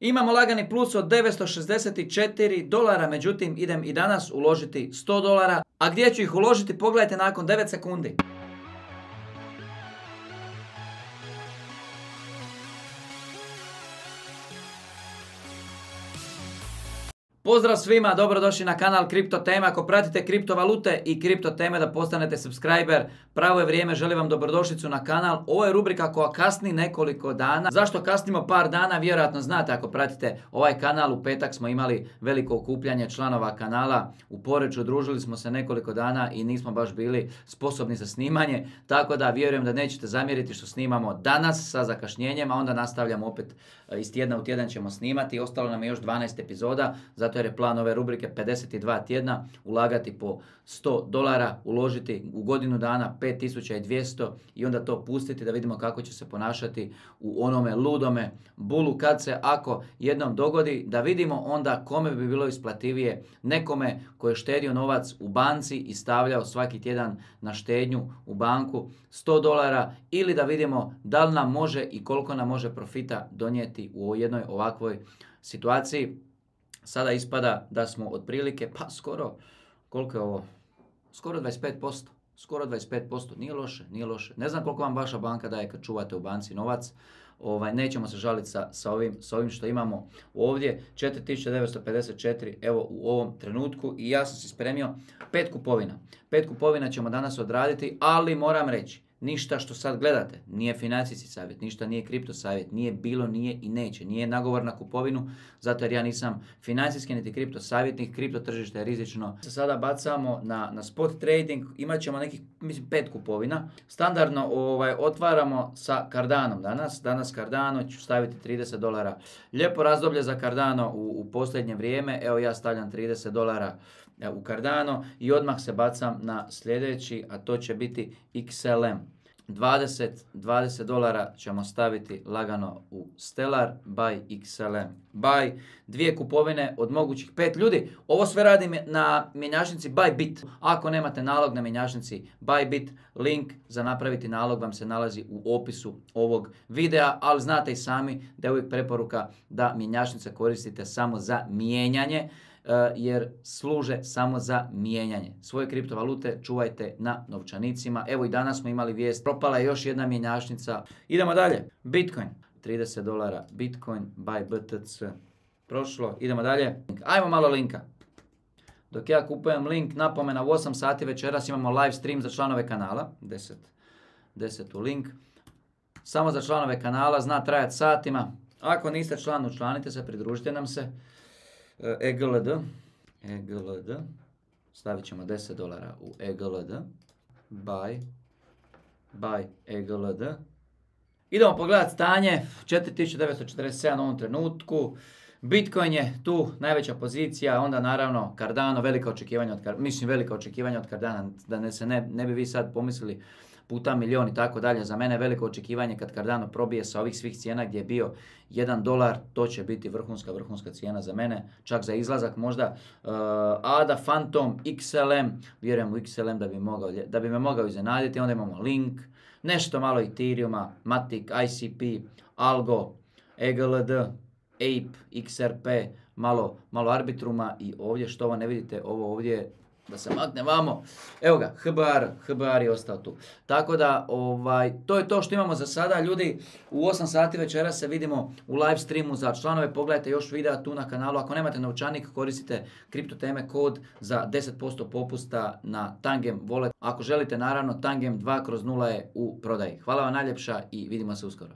Imamo lagani plus od $964, međutim idem i danas uložiti $100. A gdje ću ih uložiti pogledajte nakon 9 sekundi. Pozdrav svima, dobrodošli na kanal Kripto Teme. Ako pratite kriptovalute i kripto teme da postanete subscriber, pravo je vrijeme, želim vam dobrodošlicu na kanal. Ovo je rubrika koja kasni nekoliko dana. Zašto kasnimo par dana? Vjerojatno znate ako pratite ovaj kanal. U petak smo imali veliko okupljanje članova kanala u Poreču, družili smo se nekoliko dana i nismo baš bili sposobni za snimanje. Tako da vjerujem da nećete zamjeriti što snimamo danas sa zakašnjenjem, a onda nastavljamo opet iz tjedna u tjedan ćemo snimati. Ostalo nam je još 12 epizoda, zato jer je plan ove rubrike 52 tjedna, ulagati po $100, uložiti u godinu dana 5200 i onda to pustiti da vidimo kako će se ponašati u onome ludome bulu kad se ako jednom dogodi, da vidimo onda kome bi bilo isplativije, nekome koji je štedio novac u banci i stavljao svaki tjedan na štednju u banku $100 ili da vidimo da li nam može i koliko nam može profita donijeti u jednoj ovakvoj situaciji. Sada ispada da smo otprilike, pa skoro, koliko je ovo? Skoro 25%. Skoro 25%. Nije loše, nije loše. Ne znam koliko vam vaša banka daje kad čuvate u banci novac. Nećemo se žaliti sa ovim što imamo ovdje. 4954 evo u ovom trenutku i ja sam se spremio 5 kupovina. 5 kupovina ćemo danas odraditi, ali moram reći, ništa što sad gledate nije financijski savjet, ništa nije kripto savjet, nije bilo, nije i neće, nije nagovor na kupovinu, zato jer ja nisam financijski niti kripto savjetnik, kripto tržište je rizično. Sada bacamo na spot trading, imat ćemo nekih, mislim, 5 kupovina. Standardno otvaramo sa Cardanom danas Cardano ću staviti $30. Lijepo razdoblje za Cardano u posljednje vrijeme, evo ja stavljam $30 u Cardano i odmah se bacam na sljedeći, a to će biti XLM. $20 ćemo staviti lagano u Stellar, buy XLM, buy. 2 kupovine od mogućih 5 ljudi. Ovo sve radim na mjenjačnici Bybit. Ako nemate nalog na mjenjačnici Bybit, link za napraviti nalog vam se nalazi u opisu ovog videa, ali znate i sami da je uvijek preporuka da mjenjačnice koristite samo za mijenjanje, jer služe samo za mijenjanje. Svoje kriptovalute čuvajte na novčanicima. Evo i danas smo imali vijest, propala je još jedna mjenjačnica. Idemo dalje. Bitcoin, $30. Bitcoin by BTC. Prošlo, idemo dalje. Ajmo malo linka. Dok ja kupujem link, napomena u 8 sati večeras imamo live stream za članove kanala. 10 u link. Samo za članove kanala, zna trajati satima. Ako niste član, učlanite se, pridružite nam se. EGLD, stavit ćemo $10 u EGLD, buy EGLD. Idemo pogledati stanje, 4947 u ovom trenutku, Bitcoin je tu najveća pozicija, onda naravno Cardano, velika očekivanja od Cardana, da se ne bi vi sad pomislili puta milion i tako dalje. Za mene je veliko očekivanje kad Cardano probije sa ovih svih cijena gdje je bio $1, to će biti vrhunska cijena za mene, čak za izlazak možda. ADA, Phantom, XLM, vjerujem u XLM da bi me mogao iznenaditi. Onda imamo Link, nešto malo Ethereuma, Matic, ICP, Algo, EGLD, Ape, XRP, malo Arbitruma i ovdje što ovo ne vidite, ovo ovdje da se makne vamo, evo ga, HBR je ostao tu. Tako da, to je to što imamo za sada. Ljudi, u 8 sati večera se vidimo u live streamu za članove. Pogledajte još videa tu na kanalu. Ako nemate novčanik, koristite Kripto Teme kod za 10% popusta na Tangem Wallet. Ako želite, naravno, Tangem 2/0 je u prodaji. Hvala vam najljepša i vidimo se uskoro.